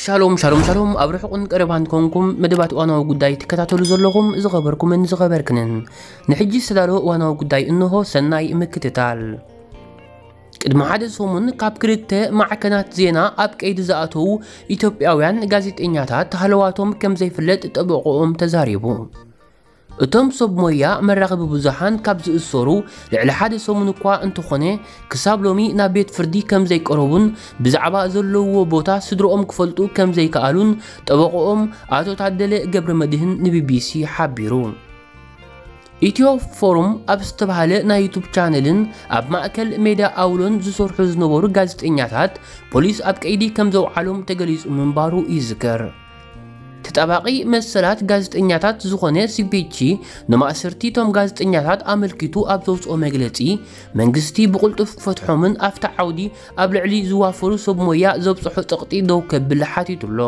ሻሎም ሻሎም ሻሎም፣ ኣብ ርሑቕን ቀረባን ኮንኩም መደባት እዋናዊ ጉዳይ ትከታተሉ ዘለኹም ዝኸበርኩምን ዝኸበርክንን፣ ንሕጂ ዝተዳለወ እዋናዊ ጉዳይ እንሆ። ሰናይ ምክትታል። ቅድሚ ሓደ ሰሙን ካብ ክልተ ማዕከናት ዜና ኣብ ቀይዲ ዝኣተዉ ኢትዮጵያውያን ጋዜጠኛታት ሃለዋቶም ከም ዘይፍለጥ ጠበቆኦም ተዛሪቡ። እቶም ሰብ ሞያ መራኸቢ ብዙሓን ካብ ዝእሰሩ ልዕሊ ሓደ ሰሙን እኳ እንተኾነ፣ ክሳብ ሎሚ ናብ ቤት ፍርዲ ከም ዘይቀረቡን ብዛዕባ ዘለውዎ ቦታ ስድሮኦም ክፈልጡ ከም ዘይከኣሉን ጠበቆኦም ኣቶ ታደለ ገብረ መድህን ንቢቢሲ ሓቢሩ። ኢትዮ ፎሩም ኣብ ዝተባህለ ናይ ዩቱብ ቻነልን ኣብ ማእከል ሜዳ ኣውሎን ዝሰርሑ ዝነበሩ ጋዜጠኛታት ፖሊስ ኣብ ቀይዲ ከም ዘውዓሎም ተገሊጹ ምንባሩ ይዝከር። ተጣባቂ መሰላት ጋዜጠኛታት ዝኾነ ሲፒጂ ንማእሰርቲ እቶም ጋዜጠኛታት ኣመልኪቱ ኣብ ዘውፅኦ መግለፂ፣ መንግስቲ ብቕልጡፍ ክፈትሖምን ኣብቲ ዓውዲ ኣብ ልዕሊ ዝዋፈሩ ሰብ ሞያ ዘብፅሖ ፀቕጢ ደው ከብል ሓቲቱ ኣሎ።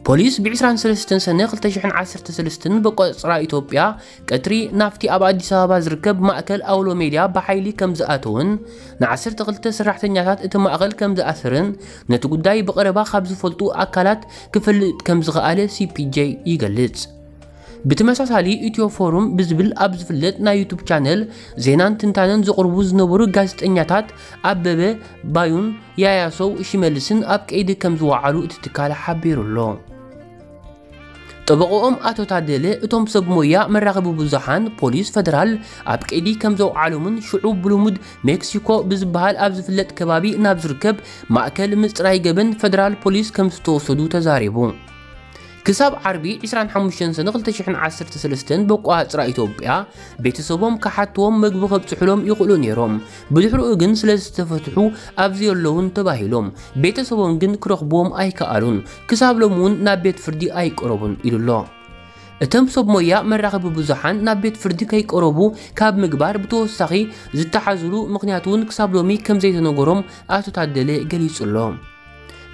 ፖሊስ ብ ዕስራን ሰለስተን ሰነ ክልተ ሽሕን ዓሰርተ ሰለስተን በቆፅራ ኢትዮጵያ ቀትሪ ናብቲ ኣብ ኣዲስ ኣበባ ዝርከብ ማእከል ኣውሎ ሜድያ ብሓይሊ ከም ዝኣተወን ንዓሰርተ ክልተ ሰራሕተኛታት እቲ ማእከል ከም ዝኣሰረን ነቲ ጉዳይ ብቐረባ ካብ ዝፈልጡ ኣካላት ክፈልጥ ከም ዝኸኣለ ሲፒጄ ይገልጽ። ብተመሳሳሊ ኢትዮ ፎሩም ብዝብል ኣብ ዝፍለጥ ናይ ዩቱብ ቻነል ዜናን ትንታነን ዘቕርቡ ዝነበሩ ጋዜጠኛታት ኣበበ ባዩን ያያሰው ሽመልስን ኣብ ቀይዲ ከም ዝወዓሉ እቲ ትካል ሓቢሩ ኣሎ። ጠበቆኦም ኣቶ ታደለ እቶም ሰብ ሞያ መራኸቢ ብዙሓን ፖሊስ ፈደራል ኣብ ቀይዲ ከም ዘውዓሎምን ሽዑ ብልሙድ ሜክሲኮ ብዝበሃል ኣብ ዝፍለጥ ከባቢ ናብ ዝርከብ ማእከል ምጽራይ ገበን ፈደራል ፖሊስ ከም ዝተወሰዱ ተዛሪቡ። ክሳብ ዓርቢ ዕስራን ሓሙሽተን ሰነ ክልተ ሽሕን ዓሰርተ ሰለስተን በቋጽራ ኢትዮጵያ ቤተሰቦም ክሓትዎም መግቢ ከብጽሑሎም ይኽእሉ ነይሮም። ብድሕሪኡ ግን ስለ ዝተፈትሑ ኣብዚ የለውን ተባሂሎም። ቤተሰቦም ግን ክረኽብዎም ኣይከኣሉን። ክሳብ ሎሚ እውን ናብ ቤት ፍርዲ ኣይቀረቡን ኢሉ ኣሎ። እቶም ሰብ ሞያ መራኸቢ ብዙሓን ናብ ቤት ፍርዲ ከይቀረቡ ካብ ምግባር ብተወሳኺ ዝተሓዝሉ ምኽንያት እውን ክሳብ ሎሚ ከም ዘይተነገሮም ኣቶ ታደለ ገሊጹ ኣሎ።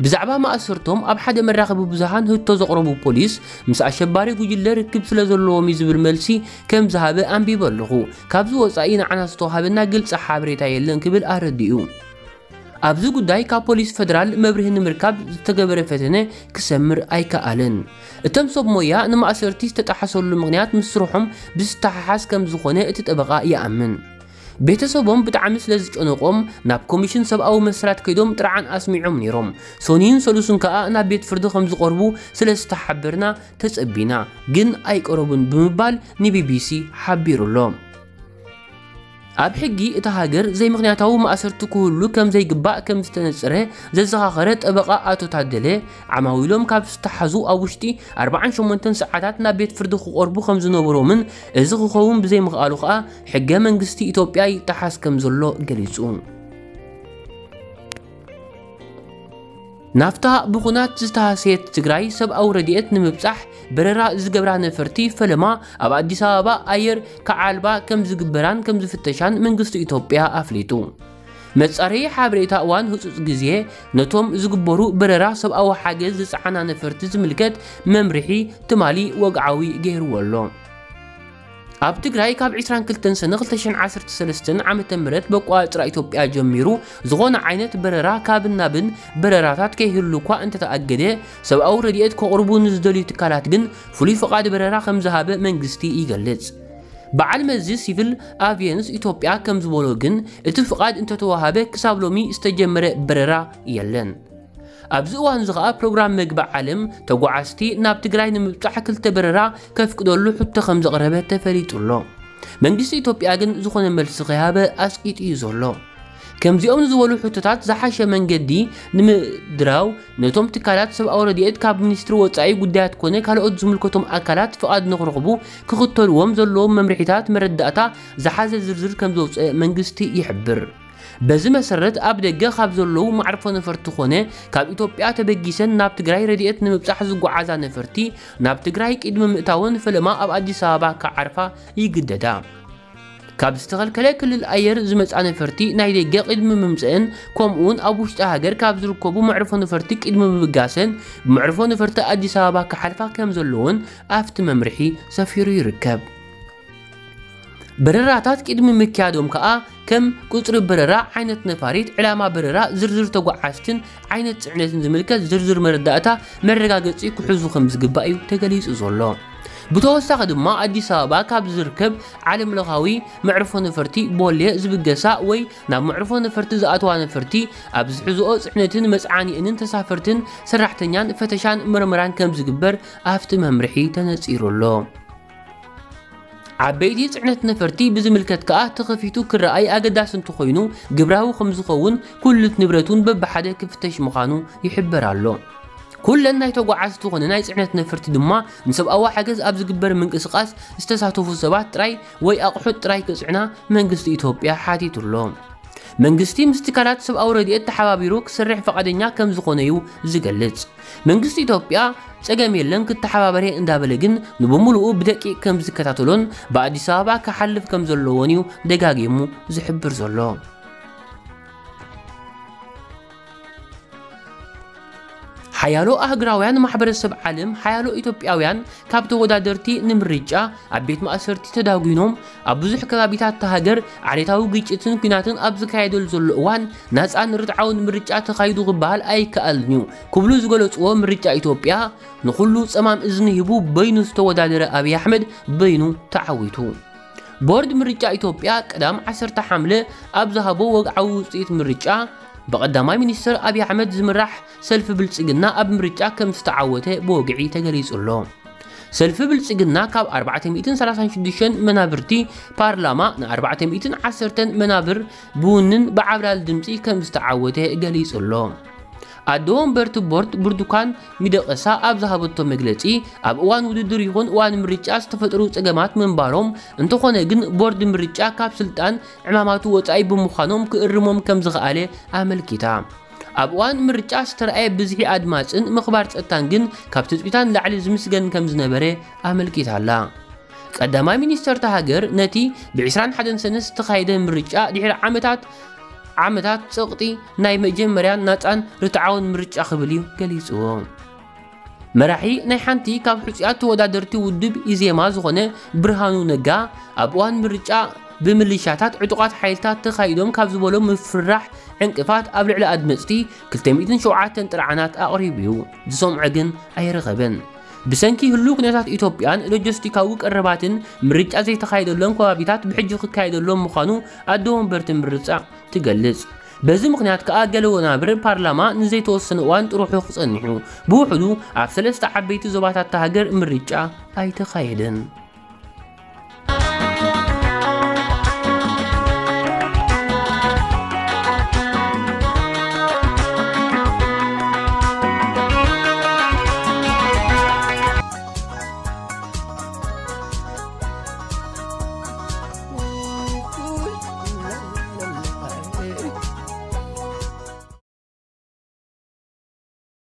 ብዛዕባ ማእሰርቶም ኣብ ሓደ መራኸቢ ብዙሃን ህቶ ዘቕረቡ ፖሊስ፣ ምስ ኣሸባሪ ጉጅለ ርክብ ስለ ዘለዎም እዩ ዝብል መልሲ ከም ዝሃበ ኣንቢበ ኣለኹ። ካብዚ ወጻኢ ንዓና ዝተዋሃበና ግልጺ ሓበሬታ የለን ክብል ኣረዲኡ። ኣብዚ ጉዳይ ካብ ፖሊስ ፈደራል መብርሂ ንምርካብ ዝተገበረ ፈተነ ክሰምር ኣይከኣለን። እቶም ሰብ ሞያ ንማእሰርቲ ዝተጣሓሰሉ ምኽንያት ምስ ስርሖም ብዝተሓሓዝ ከም ዝኾነ እቲ ጠበቓ ይኣምን። ቤተሰቦም ብጣዕሚ ስለ ዝጨነቆም ናብ ኮሚሽን ሰብኣዊ መሰላት ከይዶም ጥርዓን ኣስሚዖም ነይሮም። ሶኒን ሰሉስን ከኣ ናብ ቤት ፍርዲ ከም ዝቐርቡ ስለ ዝተሓበርና ተጸቢና፣ ግን ኣይቀረቡን ብምባል ንቢቢሲ ሓቢሩ ኣሎ። ኣብ ሕጊ እታ ሃገር ዘይምኽንያታዊ ማእሰርቲ ክህሉ ከም ዘይግባእ ከም ዝተነጸረ ዘዘኻኸረ ጠበቓ ኣቶ ታደለ፣ ዓማዊሎም ካብ ዝተሓዙ ኣብ ውሽጢ ኣርባዓን ሸሞንተን ሰዓታት ናብ ቤት ፍርዲ ክቐርቡ ከም ዝነበሮምን እዚ ክኸውን ብዘይምኽኣሉ ከኣ ሕገ መንግስቲ ኢትዮጵያ ይጠሓስ ከም ዘሎ ገሊጹ። ናብታ ብኹናት ዝተሃሰየት ትግራይ ሰብኣዊ ረድኤት ንምብጻሕ በረራ ዝገብራ ነፈርቲ ፈለማ ኣብ ኣዲስ ኣበባ ኣየር ክዓልባ ከም ዝግበራን ከም ዝፍተሻን መንግስቲ ኢትዮጵያ ኣፍሊጡ። መጻረዪ ሓበሬታ እዋን ህጹጽ ግዜ ነቶም ዝግበሩ በረራ ሰብኣዊ ሓገዝ ዝጸዓና ነፈርቲ ዝምልከት መምርሒ ትማሊ ወግዓዊ ገይርዎ ኣሎ። ኣብ ትግራይ ካብ ዕስራን ክልተን ሰነ ክልተ ሽሕን ዓሰርተ ሰለስተን ዓመተ ምህረት በቋጽራ ኢትዮጵያ ጀሚሩ ዝኾነ ዓይነት በረራ ካብን ናብን በረራታት ከይህሉ እኳ እንተተኣገደ፣ ሰብኣዊ ረድኤት ከቕርቡ ንዝደልዩ ትካላት ግን ፍሉይ ፍቓድ በረራ ከም ዝሃበ መንግስቲ ይገልጽ። በዓል መዚ ሲቪል ኣቪየንስ ኢትዮጵያ ከም ዝበሎ ግን፣ እቲ ፍቓድ እንተተዋሃበ ክሳብ ሎሚ ዝተጀመረ በረራ የለን። ኣብዚ እዋን እዚ ኸኣ ፕሮግራም መግቢ ዓለም ተጓዓዝቲ ናብ ትግራይ ንምብጻሕ ክልተ በረራ ከፍቅደሉ ሕቶ ከም ዘቕረበ ተፈሊጡ ኣሎ። መንግስቲ ኢትዮጵያ ግን ዝኾነ መልሲ ከይሃበ ኣስቂጡ እዩ ዘሎ። ከምዚኦም ዝበሉ ሕቶታት ዝሓሸ መንገዲ ንምድራው ነቶም ትካላት ሰብኣዊ ረድኤት ካብ ሚኒስትሪ ወጻኢ ጉዳያት ኮነ ካልኦት ዝምልከቶም ኣካላት ፍቓድ ንኽረኽቡ ክኽተልዎም ዘለዎም መምርሒታት መረዳእታ ዝሓዘ ዝርዝር ከም ዘውፅአ መንግስቲ ይሕብር። በዚ መሰረት ኣብ ደገ ካብ ዘለዉ መዕርፎ ነፈርቲ ኮነ ካብ ኢትዮጵያ ተበጊሰን ናብ ትግራይ ረድኤት ንምብጻሕ ዝጓዓዛ ነፈርቲ ናብ ትግራይ ቅድሚ ምእታወን ፈለማ ኣብ ኣዲስ ኣበባ ክዓርፋ ይግደዳ። ካብ ዝተኸልከለ ክልል ኣየር ዝመጻ ነፈርቲ ናይ ደገ ቅድሚ ምምጽእን ከምኡውን ኣብ ውሽጢ ሃገር ካብ ዝርከቡ መዕርፎ ነፈርቲ ቅድሚ ምብጋሰን ብመዕርፎ ነፈርቲ ኣዲስ ኣበባ ክሓልፋ ከም ዘለዎን ኣብቲ መምርሒ ሰፊሩ ይርከብ። በረራታት ቅድሚ ምክያዶም ከኣ ከም ቁጽሪ በረራ፣ ዓይነት ነፋሪት፣ ዕላማ በረራ፣ ዝርዝር ተጓዓዝትን ዓይነት ጽዕነትን ዝምልከት ዝርዝር መረዳእታ መረጋገጺ ክሕዙ ከም ዝግባእ እዩ ተገሊጹ ዘሎ። ብተወሳኺ ድማ ኣዲስ ኣበባ ካብ ዝርከብ ዓለም ለኻዊ መዕርፎ ነፈርቲ ቦሌ ዝብገሳ ወይ ናብ መዕርፎ ነፈርቲ ዝኣተዋ ነፈርቲ ኣብ ዝሕዝኦ ጽዕነትን መጽዓኒእንን ተሳፈርትን ሰራሕተኛን ፈተሻን መርመራን ከም ዝግበር ኣብቲ መምርሒ ተነጺሩ ኣሎ። ዓበይቲ ጽዕነት ነፈርቲ ብዝምልከት ከኣ ተኸፊቱ ክረኣይ ኣገዳሲ እንተኾይኑ ግብራዊ ከም ዝኸውን ኩሉት ንብረቱን በብሓደ ክፍተሽ ምዃኑ ይሕበር ኣሎ። ኩለን ናይ ተጓዓዝቲ ዝኾነ ናይ ጽዕነት ነፈርቲ ድማ ንሰብኣዊ ሓገዝ ኣብ ዝግበር ምንቅስቓስ ዝተሳተፉ ሰባት ጥራይ ወይ ኣቑሑት ጥራይ ክጽዕና መንግስቲ ኢትዮጵያ ሓቲቱ ኣሎ። መንግስቲ ምስ ትካላት ሰብኣዊ ረድኤት ተሓባቢሩ ክሰርሕ ፈቓደኛ ከም ዝኾነ እዩ ዝገልጽ። መንግስቲ ኢትዮጵያ ጸገም የለን ክተሓባበረ እንዳበለ ግን ንብምሉኡ ብደቂቕ ከም ዝከታተሎን ብኣዲስ ኣበባ ክሓልፍ ከም ዘለዎን እዩ ደጋጊሙ ዝሕብር ዘሎ። ሓያሎ ኣህግራውያን ማሕበረሰብ ዓለም፣ ሓያሎ ኢትዮጵያውያን ካብ ተወዳደርቲ ንምርጫ ኣብ ቤት ማእሰርቲ ተዳጒኖም፣ ኣብ ብዙሕ ከባቢታት እታ ሃገር ዓሌታዊ ግጭትን ኲናትን ኣብ ዝካየደሉ ዘሎ እዋን ናጻን ርትዓውን ምርጫ ተኻይዱ ክበሃል ኣይከኣልን እዩ ክብሉ ዝገለጽዎ፣ ምርጫ ኢትዮጵያ ንኹሉ ጸማም እዝኒ ሂቡ በይኑ ዝተወዳደረ ኣብይ ኣሕመድ በይኑ ተዓዊቱ። ቦርድ ምርጫ ኢትዮጵያ ቀዳም ዓሰርተ ሓምለ ኣብ ዝሃቦ ወግዓዊ ውጽኢት ምርጫ፣ ብቐዳማይ ሚኒስትር ኣብይ ኣሕመድ ዝምራሕ ሰልፊ ብልጽግና ኣብ ምርጫ ከም ዝተዓወተ ብወግዒ ተገሊጹ ኣሎ። ሰልፊ ብልጽግና ካብ ኣርባዕተ ሚእትን ሰላሳን ሽዱሽተን መናብርቲ ፓርላማ ን ኣርባዕተ ሚእትን ዓሰርተን መናብር ብውንን ብዓብላል ድምጺ ከም ዝተዓወተ ገሊጹ ኣሎ። ኣደ ወንበርቲ ቦርድ ብርቱካን ሚደቀሳ ኣብ ዝሃበቶ መግለጺ፣ ኣብ እዋን ውድድር ይኹን እዋን ምርጫ ዝተፈጥሩ ጸገማት ምንባሮም፣ እንተኾነ ግን ቦርድ ምርጫ ካብ ስልጣን ዕማማቱ ወጻኢ ብምዃኖም ክእርሞም ከም ዝኸኣለ ኣመልኪታ። ኣብ እዋን ምርጫ ዝተረኣየ ብዝሒ ኣድማጽን ምኽባር ጸጥታን ግን ካብ ትጽቢታን ላዕሊ ዝምስገን ከም ዝነበረ ኣመልኪታ ኣላ። ቀዳማይ ሚኒስተር እታ ሃገር ነቲ ብ ዕስራን ሓደን ሰነ ዝተኻየደ ምርጫ ድሕሪ ዓመታት ዓመታት ጸቕጢ ናይ መጀመርያን ናጻን ርትዓውን ምርጫ ክብል እዩ ገሊጽዎ። መራሒ ናይ ሓንቲ ካብ ሕጹያት ተወዳደርቲ ውድብ ኢዜማ ዝኾነ ብርሃኑ ነጋ፣ ኣብ እዋን ምርጫ ብምልሻታት ዕጡቓት ሓይልታት ተኻይዶም ካብ ዝበሎም ምፍርራሕ ዕንቅፋት ኣብ ልዕሊ ኣድመጽቲ ክልተ ሚእትን ሸውዓተን ጥርዓናት ኣቕሪቡ እዩ። ዝሰምዖ ግን ኣይረኸበን። ብሰንኪ ህሉው ኩነታት ኢትዮጵያን ሎጂስቲካዊ ቀረባትን ምርጫ ዘይተኻየደሎም ከባቢታት ብሕጂ ክካየደሎም ምዃኑ ኣደ ወንበርቲ ምርጫ ትገልጽ። በዚ ምኽንያት ከኣ ገለ ወናብር ፓርላማ ንዘይተወሰነ እዋን ጥርሑ ክጸንሑ፣ ብውሕዱ ኣብ ሰለስተ ዓበይቲ ዞባታት እታ ሃገር ምርጫ ኣይተኻየደን።